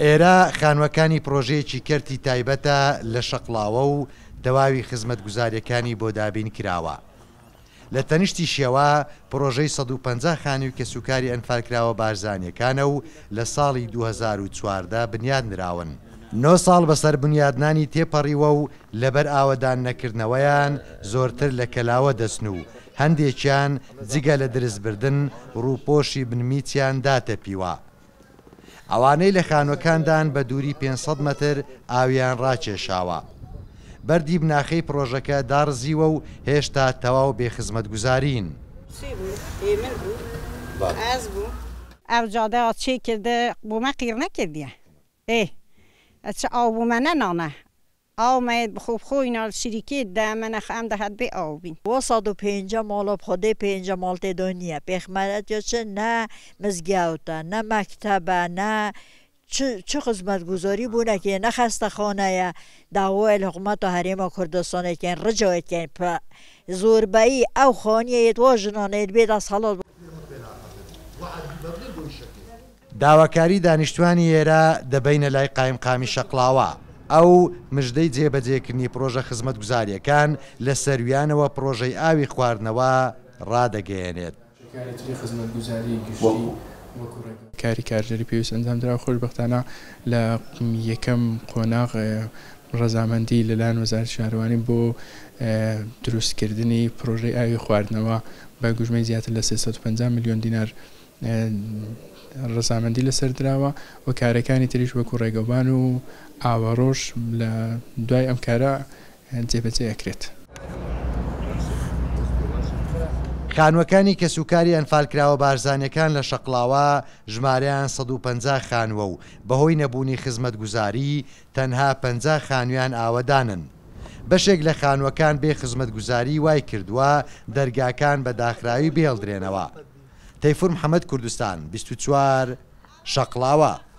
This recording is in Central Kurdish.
ئێرە خانووەکانی پڕۆژەیەکی کەرتی تایبەتە لە شەقڵاوە و تەواوی خزمەتگوزارییەکانی بۆ دابین کراوە. لە تەنیشتیشیەوە پڕۆژەی 150 خانووی کەسوکاری ئەنفالکراوە بارزانییەکانە و لە ساڵی 2014 بنیاد نراون. نۆ ساڵ بەسەر بنیادنانی تێپەڕیوە و لەبەر ئاوەدان نەکردنەوەیان زۆرتر لە کەلاوە دەچن و هەندێکیان جگە لە درزبردن ڕووپۆشی بنمیچیان داتەپیوە. ئەوانەی لە خانووەکاندان بە دووری 500 مەتر ئاویان ڕاکێشاوە. بەردی بناخەی پڕۆژەکە داڕزیوە و هێشتا تەواو بێ خزمەتگوزارین. ئەو جادە چێ کردە بۆ مە قیڕ نەکردیە ئێ ئەچ ئاو بۆ مە نەنانە ئاو مە بخۆ بخۆینا شریکێ دە مە نەخ ئەم دەهات بێ ئاو بین. وا 150 ماڵە بخۆدەی پێنجە ماڵ تێدا نییە پێخمەرەت یا چ نە مزگەوتە نە مەکتەبە نە چ خزمەتگوزاری بۆ نەکێ نە خەستەخانەیە داوای لە حکومەتە هەرێمە کوردستانێکیان ڕجایەکەین زۆربەیی ئەو خانیەیەت وا ژنانەیەت بێ دەسەڵات. داواکاری دانیشتوانی ئێرە دەبەینە لای قایمقامی شەقڵاوە، ئەو مژدەی جێبەجێکردنی پڕۆژە خزمەتگوزارییەکان لە سەرویانەوە پڕۆژەی ئاوی خواردنەوە ڕادەگەیەنێت. کاری تری خزمەتگوزاری گشتی وەکو ڕێگە. کاری کارگێری پێویست ئەنجامدرا و خۆشبەختانە لە یەکەم قۆناغ ڕەزامەندی لەلایەن وەزارەتی شارەوانی بۆ دروستکردنی پرۆژەی ئاوی خواردنەوە بە گوژمەی زیاتر لە 350 ملیۆن دینار ڕەزامەندی لەسەر دراوە و کارەکانی تریش وەکو ڕێگەوبان و ئاوەڕۆش لە دوای ئەم کارە جێبەجێ ئەکرێت. خانووەکانی کەسوکاری ئەنفالکراوە بارزانییەکان لە شەقڵاوە ژمارەیان 150 خانووە و بەهۆی نەبوونی خزمەتگوزاری تەنها 50 خانوویان ئاوەدانن. بەشێک لە خانووەکان بێ خزمەتگوزاری وایکردووە دەرگاکان بە داخراوی بهێڵدرێنەوە. تەیفور محەمەد کوردستان 24 شەقڵاوە.